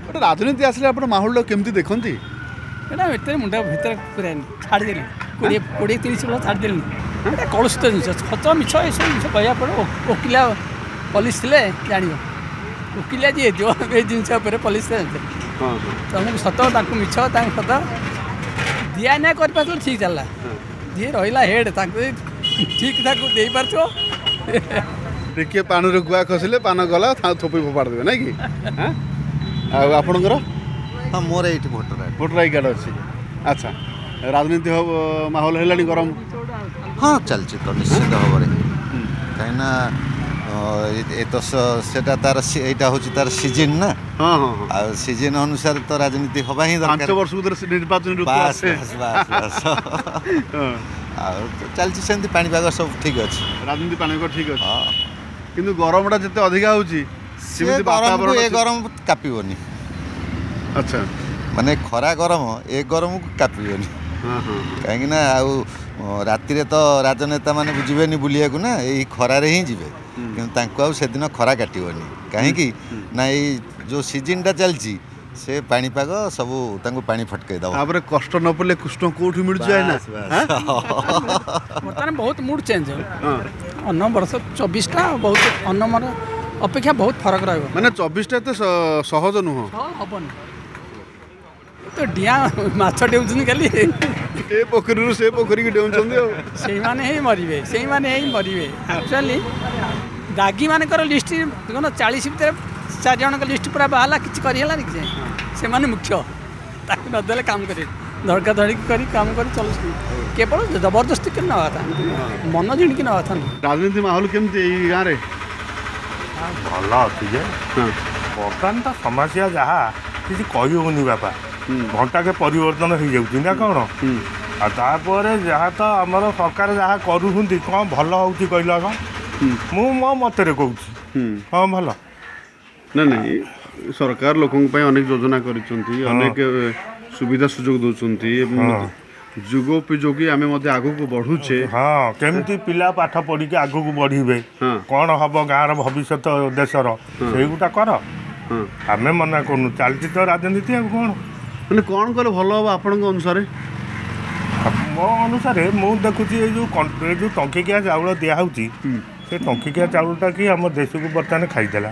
ଗୋଟେ ରାଜନୀତି ଆସିଲେ ଆପଣ ମାହୋଲଟା କେମିତି ଦେଖନ୍ତି? ଏଇଟା ଏତେ ମୁଣ୍ଡ ଭିତରେ ପୁରାଇନି, ଛାଡ଼ିଦେଲି କୋଡ଼ିଏ କୋଡ଼ିଏ ତିରିଶ ବର୍ଷ ଛାଡ଼ିଦେଲିଣି। ଏଇଟା କଳୁଷିତ ଜିନିଷ, ସତ ମିଛ ଏସବୁ ଜିନିଷ କହିବାକୁ ପଡ଼ିବ। ଓକିଲା ପୋଲିସ ଥିଲେ ଜାଣିବ, ଓକିଲିଆ ଯିଏ ହେଇଥିବ ଏ ଜିନିଷ ଉପରେ ପୋଲିସ ଜାଣିଥିବ। ତମକୁ ସତ ତାଙ୍କୁ ମିଛ, ତାଙ୍କୁ ସତ ଦିଆ ନିଆ କରିପାରୁଥିଲେ ଠିକ୍ ଚାଲିଲା, ଯିଏ ରହିଲା ହେଡ଼୍ ତାଙ୍କୁ ଠିକ୍ ତାକୁ ଦେଇପାରୁଥିବ। ଟିକେ ପାଣିରୁ ଗୁଆ ଖସିଲେ ପାନ ଗଲା, ଥୋପି ଫୋପାଡ଼ି ଦେବେ ନାଇଁ କି? ଆଉ ଆପଣଙ୍କର? ହଁ, ମୋର ଏଇଠି ଭୋଟର ଭୋଟର I card ଅଛି। ଆଚ୍ଛା, ରାଜନୀତି ମାହୋଲ ହେଲାଣି ଗରମ? ହଁ, ଚାଲିଛି ତ ନିଶ୍ଚିତ ଭାବରେ, କାହିଁକିନା ଏ ତ ସେଟା ତାର ଏଇଟା ହେଉଛି ତାର ସିଜିନ୍ ନା, ଆଉ ସିଜିନ୍ ଅନୁସାରେ ତ ରାଜନୀତି ହବା ହିଁ ଦରକାର। ପାଞ୍ଚ ବର୍ଷକୁ ଥରେ ନିର୍ବାଚନ ଋତୁ ଆସେ। ବାସ୍ ବାସ୍ ବାସ୍। ଆଉ ଚାଲିଛି ସେମିତି, ପାଣିପାଗ ସବୁ ଠିକ୍ ଅଛି। ରାଜନୀତି ପାଣିପାଗ ଠିକ୍ ଅଛି, କିନ୍ତୁ ଗରମଟା ଯେତେ ଅଧିକା ହେଉଛି ସେମିତି ଗରମକୁ ଏ ଗରମ କାପିବନି। ଆଚ୍ଛା, ମାନେ ଖରା ଗରମ ଏ ଗରମକୁ କାପିବନି କାହିଁକି ନା ଆଉ ରାତିରେ ତ ରାଜନେତା ମାନେ ଯିବେନି ବୁଲିବାକୁ ନା ଏଇ ଖରାରେ ହିଁ ଯିବେ କିନ୍ତୁ ତାଙ୍କୁ ଆଉ ସେଦିନ ଖରା କାଟିବନି କାହିଁକି ନା ଏଇ ଯେଉଁ ସିଜିନ୍ଟା ଚାଲିଛି ସେ ପାଣିପାଗ ସବୁ ତାଙ୍କୁ ପାଣି ଫଟକେଇ ଦେବ ତାପରେ କଷ୍ଟ ନ ପଡ଼ିଲେ କୃଷ୍ଣ କୋଉଠି ମିଳୁଛି ଆଇନା ବର୍ତ୍ତମାନ ବହୁତ ମୁଡ୍ ଚେଞ୍ଜ ଅନ୍ୟ ବର୍ଷ ଚବିଶଟା ବହୁତ ଅନ୍ୟ ମୋର ଅପେକ୍ଷା ବହୁତ ଫରକ ରହିବ ମାନେ ଚବିଶଟା ଏତେ ସହଜ ନୁହଁ ହବନି ତ ଡିଆଁ ମାଛ ଡେଉଁଛନ୍ତି ଖାଲି ଏ ପୋଖରୀରୁ ସେ ପୋଖରୀକି ଡେଉଁଛନ୍ତି ଆଉ ସେଇମାନେ ହିଁ ମରିବେ ସେଇମାନେ ହିଁ ମରିବେ ଆକ୍ଚୁଆଲି ଦାଗୀମାନଙ୍କର ଲିଷ୍ଟ ଦେଖୁନ ଚାଳିଶ ଭିତରେ ଚାରି ଜଣଙ୍କ ଲିଷ୍ଟ ପୁରା ବାହାରିଲା କିଛି କରିହେଲାନି କିଛି ସେମାନେ ମୁଖ୍ୟ ତାକୁ ନଦେଲେ କାମ କରିବେ ଧଡ଼କା ଧଡ଼ିକି କରି କାମ କରି ଚଲୁଛନ୍ତି କେବଳ ଜବରଦସ୍ତି କରି ନେବା କଥା ମନ ଜିଣିକି ନେବା କଥା ନୁହଁ ରାଜନୀତି ମାହୋଲ କେମିତି ଏଇ ଗାଁରେ ଭଲ ଅଛି ଯେ ବର୍ତ୍ତମାନ ତ ସମସ୍ୟା ଯାହା କିଛି କହି ହେଉନି ବାପା ଘଣ୍ଟାକେ ପରିବର୍ତ୍ତନ ହେଇଯାଉଛି ନା କ'ଣ ଆଉ ତାପରେ ଯାହା ତ ଆମର ସରକାର ଯାହା କରୁଛନ୍ତି କ'ଣ ଭଲ ହେଉଛି କହିଲ କ'ଣ ମୁଁ ମୋ ମତରେ କହୁଛି ହଁ ଭଲ ନା ନାଇଁ ସରକାର ଲୋକଙ୍କ ପାଇଁ ଅନେକ ଯୋଜନା କରିଛନ୍ତି ଅନେକ ସୁବିଧା ସୁଯୋଗ ଦେଉଛନ୍ତି ଏବଂ ଯୁଗୋପଯୋଗୀ ଆମେ ମଧ୍ୟ ଆଗକୁ ବଢ଼ୁଛେ ହଁ କେମିତି ପିଲା ପାଠ ପଢ଼ିକି ଆଗକୁ ବଢ଼ିବେ କ'ଣ ହବ ଗାଁର ଭବିଷ୍ୟତ ଦେଶର ସେଇଗୁଟା କର ଆମେ ମନା କରୁନୁ ଚାଲିଛି ତ ରାଜନୀତି ଆଉ କ'ଣ ମାନେ କ'ଣ କଲେ ଭଲ ହବ ଆପଣଙ୍କ ଅନୁସାରେ ମୋ ଅନୁସାରେ ମୁଁ ଦେଖୁଛି ଏଇ ଯେଉଁ ଏ ଯେଉଁ ଟଙ୍କିକିଆ ଚାଉଳ ଦିଆହେଉଛି ସେ ଟଙ୍କିକିଆ ଚାଉଳଟା କି ଆମ ଦେଶକୁ ବର୍ତ୍ତମାନ ଖାଇଦେଲା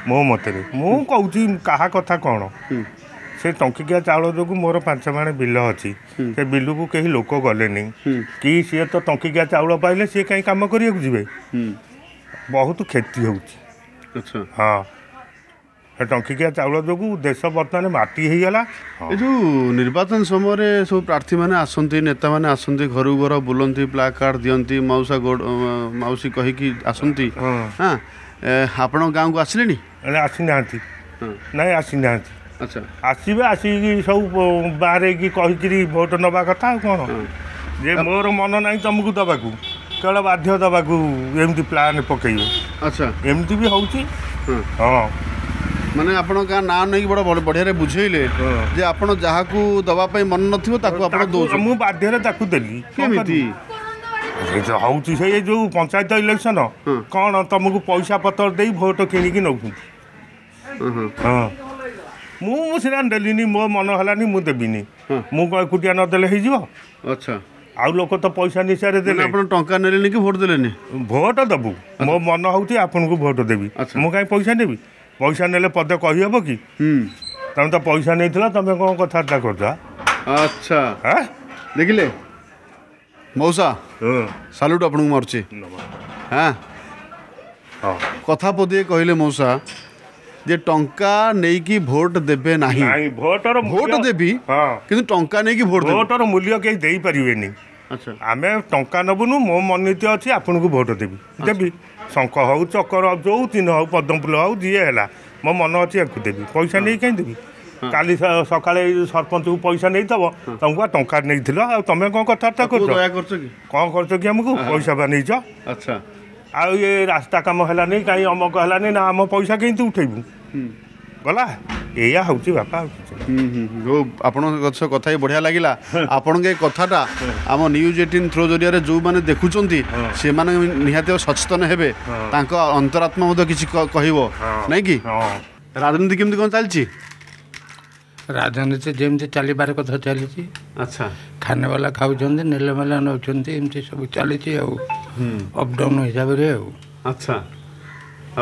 ମୋ ମତରେ ମୁଁ କହୁଛି କାହା କଥା କ'ଣ ସେ ଟଙ୍କିକିଆ ଚାଉଳ ଯୋଗୁଁ ମୋର ପାଞ୍ଚ ମାଣେ ବିଲ ଅଛି ସେ ବିଲକୁ କେହି ଲୋକ ଗଲେନି କି ସିଏ ତ ଟଙ୍କିକିଆ ଚାଉଳ ପାଇଲେ ସିଏ କାହିଁ କାମ କରିବାକୁ ଯିବେ ବହୁତ କ୍ଷତି ହେଉଛି ହଁ ସେ ଟଙ୍କିକିଆ ଚାଉଳ ଯୋଗୁଁ ଦେଶ ବର୍ତ୍ତମାନ ମାଟି ହେଇଗଲା ଏ ଯେଉଁ ନିର୍ବାଚନ ସମୟରେ ସବୁ ପ୍ରାର୍ଥୀମାନେ ଆସନ୍ତି ନେତାମାନେ ଆସନ୍ତି ଘରକୁ ଘର ବୁଲନ୍ତି ପ୍ଲାକ୍ କାର୍ଡ଼ ଦିଅନ୍ତି ମାଉସା ମାଉସୀ କହିକି ଆସନ୍ତି ହଁ ଆପଣଙ୍କ ଗାଁକୁ ଆସିଲେଣି ଆସିନାହାନ୍ତି ନାଇଁ ଆସିନାହାନ୍ତି ଆଚ୍ଛା ଆସିବେ ଆସିକି ସବୁ ବାହାରେଇକି କହିକିରି ଭୋଟ ନେବା କଥା ଆଉ କ'ଣ ଯେ ମୋର ମନ ନାହିଁ ତୁମକୁ ଦେବାକୁ କେବଳ ବାଧ୍ୟ ଦେବାକୁ ଏମିତି ପ୍ଲାନ୍ ପକେଇବେ ଆଚ୍ଛା ଏମିତି ବି ହେଉଛି ହଁ ମାନେ ଆପଣ ଗାଁ ନାଁ ନେଇକି ବଡ଼ ବଢ଼ିଆରେ ବୁଝେଇଲେ ଯେ ଆପଣ ଯାହାକୁ ଦେବା ପାଇଁ ମନ ନଥିବ ତାକୁ ଆପଣ ଦଉଛନ୍ତି ମୁଁ ବାଧ୍ୟରେ ତାକୁ ଦେଲି କେମିତି ହେଉଛି ସେଇ ଯେଉଁ ପଞ୍ଚାୟତ ଇଲେକ୍ସନ କ'ଣ ତୁମକୁ ପଇସା ପତ୍ର ଦେଇ ଭୋଟ କିଣିକି ନେଉଛନ୍ତି ହଁ ମୁଁ ସିନା ଦେଲିନି ମୋ ମନ ହେଲାନି ମୁଁ ଦେବିନି ମୁଁ କ'ଣ ଏକୁଟିଆ ନଦେଲେ ହେଇଯିବ ଆଚ୍ଛା ଆଉ ଲୋକ ତ ପଇସା ନିଶାରେ ଦେଲେ ଆପଣ ଟଙ୍କା ନେଲେନି କି ଭୋଟ ଦେଲେନି ଭୋଟ ଦେବୁ ମୋ ମନ ହେଉଛି ଆପଣଙ୍କୁ ଭୋଟ ଦେବି ମୁଁ କାହିଁ ପଇସା ନେବି ପଇସା ନେଲେ ପଦେ କହିହେବ କି ତମେ ତ ପଇସା ନେଇଥିଲ ତମେ କ'ଣ କଥାବାର୍ତ୍ତା କରୁଛ ଆଚ୍ଛା ଦେଖିଲେ ମଉସା ସାଲ୍ୟୁଟ୍ ଆପଣଙ୍କୁ ମାରୁଛି ହଁ କଥା ପଦିଏ କହିଲେ ମଉସା ଯେ ଟଙ୍କା ନେଇକି ଭୋଟ ଦେବେ ନାହିଁ ଭୋଟର ଭୋଟ ଦେବି କିନ୍ତୁ ଟଙ୍କା ନେଇକି ଭୋଟ ଭୋଟର ମୂଲ୍ୟ କେହି ଦେଇପାରିବେନି ଆମେ ଟଙ୍କା ନେବୁନୁ ମୋ ମନୀତି ଅଛି ଆପଣଙ୍କୁ ଭୋଟ ଦେବି ଦେବି ଶଙ୍ଖ ହଉ ଚକର ହଉ ଯେଉଁ ଚିହ୍ନ ହଉ ପଦ୍ମଫୁଲ ହଉ ଯିଏ ହେଲା ମୋ ମନ ଅଛି ୟାକୁ ଦେବି ପଇସା ନେଇ କାହିଁ ଦେବି କାଲି ସକାଳେ ଏଇ ସରପଞ୍ଚକୁ ପଇସା ନେଇଥିବ ତମକୁ ବା ଟଙ୍କା ନେଇଥିଲ ଆଉ ତମେ କ'ଣ କଥାବାର୍ତ୍ତା କରୁଛ କ'ଣ କରୁଛ କି ଆମକୁ ପଇସା ବା ନେଇଛ ଆଚ୍ଛା ଆଉ ଏ ରାସ୍ତା କାମ ହେଲାନି କାହିଁ ଅମକ ହେଲାନି ନା ଆମ ପଇସା କେମିତି ଉଠେଇବୁ ଗଲା ଏଇଆ ହେଉଛି ବାପା ହଉ ଆପଣଙ୍କ ସହ କଥା ହେଇ ବଢ଼ିଆ ଲାଗିଲା ଆପଣଙ୍କ ଏ କଥାଟା ଆମ ନ୍ୟୁଜ୍ ଏଇଟିନ୍ ଥ୍ରୋ ଜରିଆରେ ଯେଉଁମାନେ ଦେଖୁଛନ୍ତି ସେମାନେ ନିହାତି ସଚେତନ ହେବେ ତାଙ୍କ ଅନ୍ତରାତ୍ମା ମଧ୍ୟ କିଛି କହିବ ନାଇଁ କି ରାଜନୀତି କେମିତି କ'ଣ ଚାଲିଛି ରାଜନୀତି ଯେମିତି ଚାଲିବାର କଥା ଚାଲିଛି ଆଚ୍ଛା ଖାନେବାଲା ଖାଉଛନ୍ତି ନେଲେବାଲା ନେଉଛନ୍ତି ଏମିତି ସବୁ ଚାଲିଛି ଆଉ ଅପଡାଉନ୍ ହିସାବରେ ଆଉ ଆଚ୍ଛା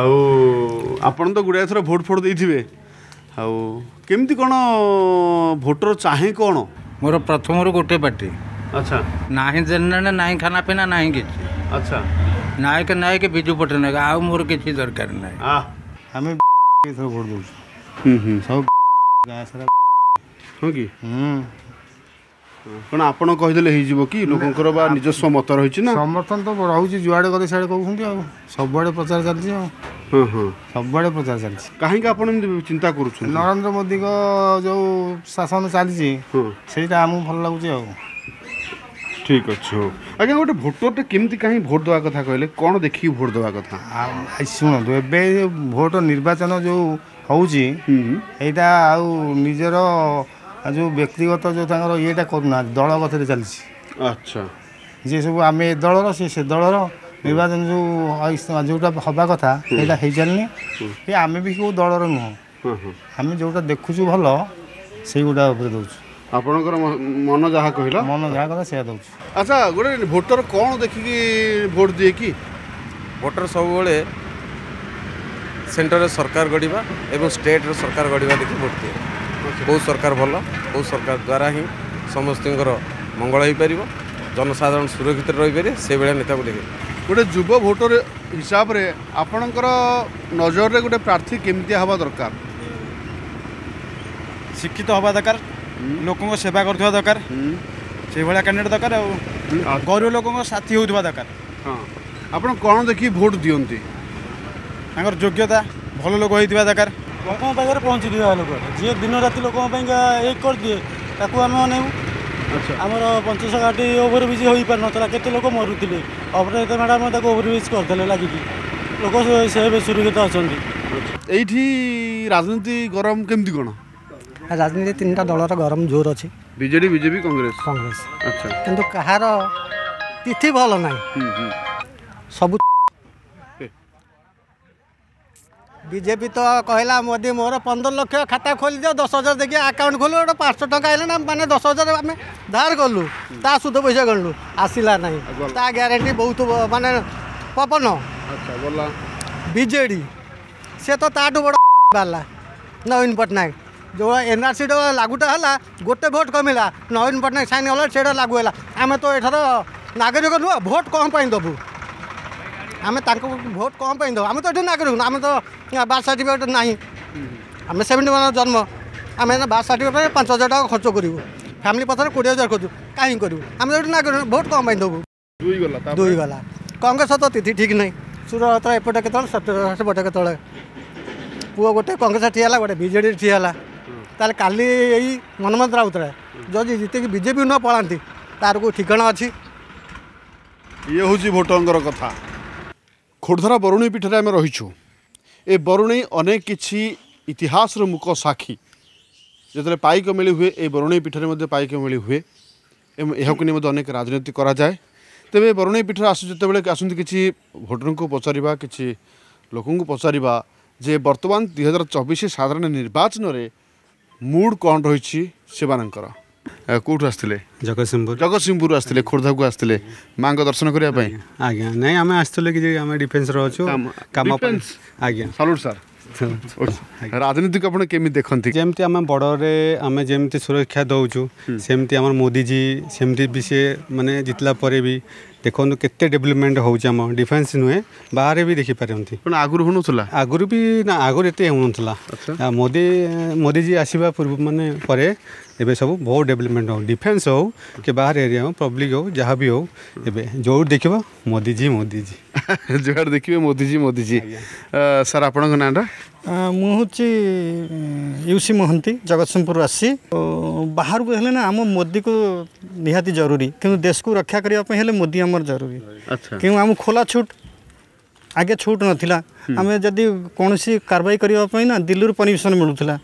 ଆଉ ଆପଣ ତ ଗୁଡ଼ାଏ ଥର ଭୋଟ ଫୋଟ ଦେଇଥିବେ ଆଉ କେମିତି କ'ଣ ଭୋଟର ଚାହେଁ କ'ଣ ମୋର ପ୍ରଥମରୁ ଗୋଟେ ପାର୍ଟି ଆଚ୍ଛା ନାହିଁ ଦେନେ ନାହିଁ ଖାନା ପିନା ନାହିଁ କିଛି ଆଚ୍ଛା ନାୟକ ନାୟକ ବିଜୁ ପଟ୍ଟନାୟକ ଆଉ ମୋର କିଛି ଦରକାର ନାହିଁ ଆମେ ଏଥର ଭୋଟ ଦେଉଛୁ ସବୁ ଗାଁ ସାରା ହଁ କି କ'ଣ ଆପଣ କହିଦେଲେ ହେଇଯିବ କି ଲୋକଙ୍କର ବା ନିଜସ୍ୱ ମତ ରହିଛି ନା ସମର୍ଥନ ତ ରହୁଛି ଯୁଆଡ଼େ ଗଲେ ସିଆଡ଼େ କହୁଛନ୍ତି ଆଉ ସବୁଆଡ଼େ ପ୍ରଚାର ଚାଲିଛି ଆଉ ହଁ ହଁ ସବୁଆଡ଼େ ପ୍ରଚାର ଚାଲିଛି କାହିଁକି ଆପଣ ଏମିତି ଚିନ୍ତା କରୁଛନ୍ତି ନରେନ୍ଦ୍ର ମୋଦିଙ୍କ ଯେଉଁ ଶାସନ ଚାଲିଛି ସେଇଟା ଆମକୁ ଭଲ ଲାଗୁଛି ଆଉ ଠିକ୍ ଅଛି ହଉ ଆଜ୍ଞା ଗୋଟେ ଭୋଟରଟେ କେମିତି କାହିଁ ଭୋଟ ଦେବା କଥା କହିଲେ କ'ଣ ଦେଖିକି ଭୋଟ ଦେବା କଥା ଶୁଣନ୍ତୁ ଏବେ ଭୋଟ ନିର୍ବାଚନ ଯେଉଁ ହେଉଛି ଏଇଟା ଆଉ ନିଜର ଆଉ ଯେଉଁ ବ୍ୟକ୍ତିଗତ ଯେଉଁ ତାଙ୍କର ଇଏଟା କରୁନାହାନ୍ତି, ଦଳଗତରେ ଚାଲିଛି। ଆଚ୍ଛା, ଯିଏ ସବୁ ଆମେ ଏ ଦଳର, ସେ ସେ ଦଳର, ନିର୍ବାଚନ ଯେଉଁ ଯେଉଁଟା ହେବା କଥା ସେଇଟା ହେଇଚାଲିନି। କି ଆମେ ବି କେଉଁ ଦଳର ନୁହଁ, ଆମେ ଯେଉଁଟା ଦେଖୁଛୁ ଭଲ ସେଇଗୁଡ଼ା ଉପରେ ଦେଉଛୁ। ଆପଣଙ୍କର ମନ ଯାହା କହିଲା, ମନ ଯାହା କହିଲା ସେଇଆ ଦେଉଛୁ। ଆଚ୍ଛା, ଗୋଟେ ଭୋଟର କ'ଣ ଦେଖିକି ଭୋଟ ଦିଏ କି? ଭୋଟର ସବୁବେଳେ ସେଣ୍ଟରରେ ସରକାର ଗଢ଼ିବା ଏବଂ ଷ୍ଟେଟ୍ର ସରକାର ଗଢ଼ିବା ଦେଖି ଭୋଟ ଦିଏ। କେଉଁ ସରକାର ଭଲ, କେଉଁ ସରକାର ଦ୍ୱାରା ହିଁ ସମସ୍ତଙ୍କର ମଙ୍ଗଳ ହୋଇପାରିବ, ଜନସାଧାରଣ ସୁରକ୍ଷିତ ରହିପାରିବେ, ସେଇଭଳିଆ ନେତାକୁ ଦେଖେ। ଗୋଟେ ଯୁବ ଭୋଟର ହିସାବରେ ଆପଣଙ୍କର ନଜରରେ ଗୋଟେ ପ୍ରାର୍ଥୀ କେମିତିଆ ହେବା ଦରକାର? ଶିକ୍ଷିତ ହେବା ଦରକାର, ଲୋକଙ୍କ ସେବା କରୁଥିବା ଦରକାର, ସେଇଭଳିଆ କ୍ୟାଣ୍ଡିଡେଟ୍ ଦରକାର, ଆଉ ଗରିବ ଲୋକଙ୍କ ସାଥୀ ହେଉଥିବା ଦରକାର। ହଁ, ଆପଣ କ'ଣ ଦେଖି ଭୋଟ ଦିଅନ୍ତି? ତାଙ୍କର ଯୋଗ୍ୟତା, ଭଲ ଲୋକ ହେଇଥିବା ଦରକାର, ଲୋକଙ୍କ ପାଖରେ ପହଞ୍ଚିଥିବା ଲୋକ, ଯିଏ ଦିନ ରାତି ଲୋକଙ୍କ ପାଇଁକା ଏକ କରିଦିଏ ତାକୁ ଆମେ ଅନେଇବୁ। ଆମର ପଞ୍ଚଶ ଘାଟି ଓଭରବ୍ରିଜ୍ ହୋଇପାରୁନଥିଲା, କେତେ ଲୋକ ମରୁଥିଲେ, ଅପରାଜିତା ମ୍ୟାଡ଼ାମ୍ ତାକୁ ଓଭରବ୍ରିଜ୍ କରିଦେଲେ ଲାଗିକି, ଲୋକ ସେ ଏବେ ସୁରକ୍ଷିତ ଅଛନ୍ତି। ଏଇଠି ରାଜନୀତି ଗରମ କେମିତି କ'ଣ? ରାଜନୀତି ତିନିଟା ଦଳର ଗରମ ଜୋର ଅଛି, ବିଜେଡି, ବିଜେପି, କଂଗ୍ରେସ। କଂଗ୍ରେସ। ଆଚ୍ଛା, କିନ୍ତୁ କାହାର ତିଥି ଭଲ ନାହିଁ, ସବୁ ବିଜେପି ତ କହିଲା ମୋଦି ମୋର ପନ୍ଦର ଲକ୍ଷ ଖାତା ଖୋଲିଦିଅ, ଦଶ ହଜାର ଦେଇକି ଆକାଉଣ୍ଟ ଖୋଲୁ, ଗୋଟେ ପାଞ୍ଚଶହ ଟଙ୍କା ହେଲା ନା, ମାନେ ଦଶ ହଜାର ଆମେ ଧାର କଲୁ, ତା ସୁଧ ପଇସା ଗଣିଲୁ, ଆସିଲା ନାହିଁ, ତା ଗ୍ୟାରେଣ୍ଟି ବହୁତ ମାନେ ପବନ। ବିଜେଡ଼ି ସେ ତ ତାଠୁ ବଡ଼ ବାହାରିଲା, ନବୀନ ପଟ୍ଟନାୟକ ଯେଉଁ ଏନ୍ଆର୍ସିଟା ଲାଗୁଟା ହେଲା, ଗୋଟେ ଭୋଟ କମିଲା, ନବୀନ ପଟ୍ଟନାୟକ ସାଇନ୍ କଲା, ସେଇଟା ଲାଗୁ ହେଲା। ଆମେ ତ ଏଠାର ନାଗରିକ ନୁହଁ, ଭୋଟ କ'ଣ ପାଇଁ ଦେବୁ? ଆମେ ତାଙ୍କୁ ଭୋଟ କ'ଣ ପାଇଁ ଦେବୁ? ଆମେ ତ ଏଠି ନାଗରିକ, ଆମେ ତ ବାର୍ଥ ସାର୍ଟିଫିକେଟ୍ ନାହିଁ, ଆମେ ସେଭେଣ୍ଟି ୱାନ୍ ଜନ୍ମ, ଆମେ ବାର୍ଥ ସାର୍ଟିଫିକେଟ୍ ପାଇଁ ପାଞ୍ଚ ହଜାର ଟଙ୍କା ଖର୍ଚ୍ଚ କରିବୁ, ଫ୍ୟାମିଲି ପଛରେ କୋଡ଼ିଏ ହଜାର ଖର୍ଚ୍ଚ କାହିଁକି କରିବୁ? ଆମେ ତ ଏଠି ନାଗରିକ, ଭୋଟ କ'ଣ ପାଇଁ ଦେବୁ? ଦୁଇ ଗଲା। କଂଗ୍ରେସ ତ ତିଥି ଠିକ୍ ନାହିଁ, ସୁରଥ ଏପଟେ କେତେବେଳେ, ସେପଟେ କେତେବେଳେ, ପୁଅ ଗୋଟେ କଂଗ୍ରେସ ଠିଆ ହେଲା, ଗୋଟେ ବିଜେଡ଼ି ଠିଆ ହେଲା। ତାହେଲେ କାଲି ଏଇ ମନମୋହନ ରାଉତରାୟ ଯଦି ଜିତିକି ବିଜେପି ନ ପଳାନ୍ତି, ତାର କେଉଁ ଠିକଣା ଅଛି? ଇଏ ହେଉଛି ଭୋଟରଙ୍କର କଥା। ଖୋର୍ଦ୍ଧାର ବରୁଣେଇ ପୀଠରେ ଆମେ ରହିଛୁ। ଏ ବରୁଣେଇ ଅନେକ କିଛି ଇତିହାସର ମୁକ ସାକ୍ଷୀ। ଯେତେବେଳେ ପାଇକ ମେଳି ହୁଏ, ଏ ବରୁଣେଇ ପୀଠରେ ମଧ୍ୟ ପାଇକ ମେଳି ହୁଏ ଏବଂ ଏହାକୁ ନେଇ ମଧ୍ୟ ଅନେକ ରାଜନୀତି କରାଯାଏ। ତେବେ ବରୁଣେଇ ପୀଠରେ ଆସୁ ଯେତେବେଳେ ଆସନ୍ତି, କିଛି ଭୋଟରଙ୍କୁ ପଚାରିବା, କିଛି ଲୋକଙ୍କୁ ପଚାରିବା ଯେ ବର୍ତ୍ତମାନ ଦୁଇ ହଜାର ଚବିଶ ସାଧାରଣ ନିର୍ବାଚନରେ ମୁଡ୍ କ'ଣ ରହିଛି ସେମାନଙ୍କର। କେଉଁଠୁ ଆସିଥିଲେ? ଜଗତସିଂହପୁର। ଜଗତସିଂହପୁରରୁ ଆସିଥିଲେ, ଖୋର୍ଦ୍ଧାକୁ ଆସିଥିଲେ ମାଆଙ୍କ ଦର୍ଶନ କରିବା ପାଇଁ? ଆଜ୍ଞା ନାଇଁ, ଆମେ ଆସିଥିଲୁ କି ଆମେ ଡିଫେନ୍ସରେ ଅଛୁ, କାମ ପାଇଁ। ଆଜ୍ଞା, ସାଲୁଟ୍ ସାର୍। ରାଜନୀତିକୁ ଆପଣ କେମିତି ଦେଖନ୍ତି? ଯେମିତି ଆମ ବର୍ଡ଼ରରେ ଆମେ ଯେମିତି ସୁରକ୍ଷା ଦେଉଛୁ, ସେମିତି ଆମର ମୋଦିଜୀ ସେମିତି ବି ସେ ମାନେ ଜିତିଲା ପରେ ବି ଦେଖନ୍ତୁ କେତେ ଡେଭଲପମେଣ୍ଟ ହେଉଛି। ଆମ ଡିଫେନ୍ସ ନୁହେଁ, ବାହାରେ ବି ଦେଖିପାରନ୍ତି। ଆଗରୁ ହେଉନଥିଲା? ଆଗରୁ ବି ନା, ଆଗରୁ ଏତେ ହେଉନଥିଲା। ମୋଦି ମୋଦିଜୀ ଆସିବା ପୂର୍ବ ମାନେ ପରେ ଏବେ ସବୁ ବହୁତ ଡେଭଲପମେଣ୍ଟ ହଉ, ଡିଫେନ୍ସ ହଉ କି ବାହାର ଏରିଆ ହଉ, ପବ୍ଲିକ୍ ହଉ, ଯାହା ବି ହଉ, ଏବେ ଯୋଉଠି ଦେଖିବ ମୋଦିଜୀ ମୋଦିଜୀ, ଯୁଆଡ଼େ ଦେଖିବେ ମୋଦିଜୀ ମୋଦିଜୀ। ସାର୍, ଆପଣଙ୍କ ନାଁଟା? ମୁଁ ହେଉଛି ୟୁସି ମହାନ୍ତି, ଜଗତସିଂହପୁରରୁ ଆସିଛି। ବାହାରକୁ ହେଲେ ନା ଆମ ମୋଦିକୁ ନିହାତି ଜରୁରୀ, କିନ୍ତୁ ଦେଶକୁ ରକ୍ଷା କରିବା ପାଇଁ ହେଲେ ମୋଦି ଆମର ଜରୁରୀ। କିନ୍ତୁ ଆମ ଖୋଲା ଛୁଟ, ଆଗେ ଛୁଟ ନଥିଲା। ଆମେ ଯଦି କୌଣସି କାରବାଇ କରିବା ପାଇଁ ନା ଦିଲ୍ଲୀରୁ ପରମିସନ୍ ମିଳୁଥିଲା,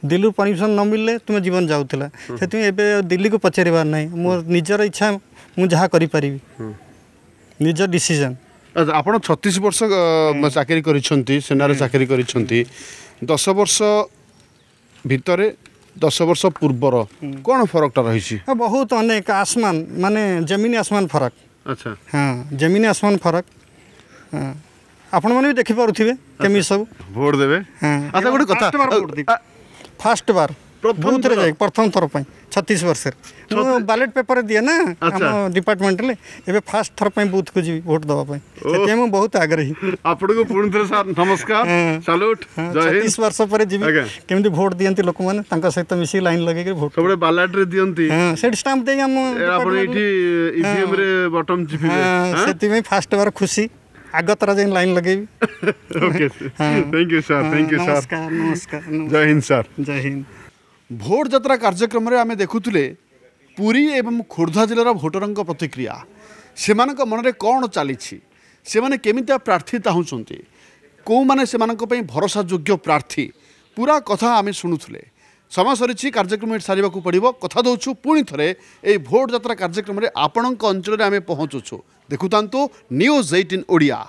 ଦିଲ୍ଲୀରୁ ପରମିସନ୍ ନ ମିଳିଲେ ତୁମେ ଜୀବନ ଯାଉଥିଲା। ସେଥିପାଇଁ ଏବେ ଦିଲ୍ଲୀକୁ ପଚାରିବାର ନାହିଁ, ମୋର ନିଜର ଇଚ୍ଛା, ମୁଁ ଯାହା କରିପାରିବି, ନିଜ ଡିସିଜନ୍। ଆପଣ ଛତିଶ ବର୍ଷ ଚାକିରି କରିଛନ୍ତି, ସେନାରେ ଚାକିରି କରିଛନ୍ତି। ଦଶ ବର୍ଷ ଭିତରେ ଦଶ ବର୍ଷ ପୂର୍ବର କ'ଣ ଫରକଟା ରହିଛି? ବହୁତ ଅନେକ, ଆସମାନ ମାନେ ଜମିନ ଆସମାନ ଫରକ। ଆଚ୍ଛା, ହଁ, ଜମିନ ଆସମାନ ଫରକ। ଆପଣମାନେ ବି ଦେଖିପାରୁଥିବେ କେମିତି ସବୁ। ଭୋଟ ଦେବେ? ଆଚ୍ଛା, ଗୋଟେ କଥା, ଫାଷ୍ଟ ବାର ବୁଥରେ ଯାଇ ପ୍ରଥମ ଥର ପାଇଁ ଛତିଶ ବର୍ଷରେ ମୁଁ ବାଲେଟ୍ ପେପର ଦିଏ ନା ଆମ ଡିପାର୍ଟମେଣ୍ଟରେ, ଏବେ ଫାଷ୍ଟ ଥର ପାଇଁ ବୁଥକୁ ଯିବି ଭୋଟ ଦେବା ପାଇଁ, ସେଥିପାଇଁ ମୁଁ ବହୁତ ଆଗ୍ରହୀ। ଆପଣଙ୍କୁ ପୁଣି ଥରେ ସାର୍ ନମସ୍କାର, ସାଲୁଟ। ଛତିଶ ବର୍ଷ ପରେ ଯିବି, କେମିତି ଭୋଟ ଦିଅନ୍ତି ଲୋକମାନେ, ତାଙ୍କ ସହିତ ମିଶିକି ଲାଇନ୍ ଲଗେଇକି ଭୋଟ। ସବୁବେଳେ ବାଲାଟରେ ଦିଅନ୍ତି? ସେଠି ଷ୍ଟାମ୍ପ ଦେଇକି ଆମ ଆପଣ ଏଇଠି ଇଭିଏମ୍ ରେ ବଟନ୍ ଚିପିବେ, ସେଥିପାଇଁ ଫାଷ୍ଟ ବାର ଖୁସି, ଆଗତରା ଯାଇ ଲାଇନ୍ ଲଗେଇବି। Okay, thank you sir. Thank you sir. ନମସ୍କାର। ନମସ୍କାର, ଜୟ ହିନ୍ଦ ସାର୍। ଜୟ ହିନ୍ଦ। ଭୋଟ ଯାତ୍ରା କାର୍ଯ୍ୟକ୍ରମରେ ଆମେ ଦେଖୁଥିଲେ ପୁରୀ ଏବଂ ଖୋର୍ଦ୍ଧା ଜିଲ୍ଲାର ଭୋଟରଙ୍କ ପ୍ରତିକ୍ରିୟା, ସେମାନଙ୍କ ମନରେ କ'ଣ ଚାଲିଛି, ସେମାନେ କେମିତିଆ ପ୍ରାର୍ଥୀ ଚାହୁଁଛନ୍ତି, କେଉଁମାନେ ସେମାନଙ୍କ ପାଇଁ ଭରସାଯୋଗ୍ୟ ପ୍ରାର୍ଥୀ, ପୁରା କଥା ଆମେ ଶୁଣୁଥିଲେ। ସମୟ ସରିଛି କାର୍ଯ୍ୟକ୍ରମ ଏଠି ସାରିବାକୁ ପଡ଼ିବ କଥା ଦେଉଛୁ ପୁଣି ଥରେ ଏଇ ଭୋଟ ଯାତ୍ରା କାର୍ଯ୍ୟକ୍ରମରେ ଆପଣଙ୍କ ଅଞ୍ଚଳରେ ଆମେ ପହଞ୍ଚୁଛୁ ଦେଖୁଥାନ୍ତୁ ନ୍ୟୁଜ୍ ଏଇଟିନ୍ ଓଡ଼ିଆ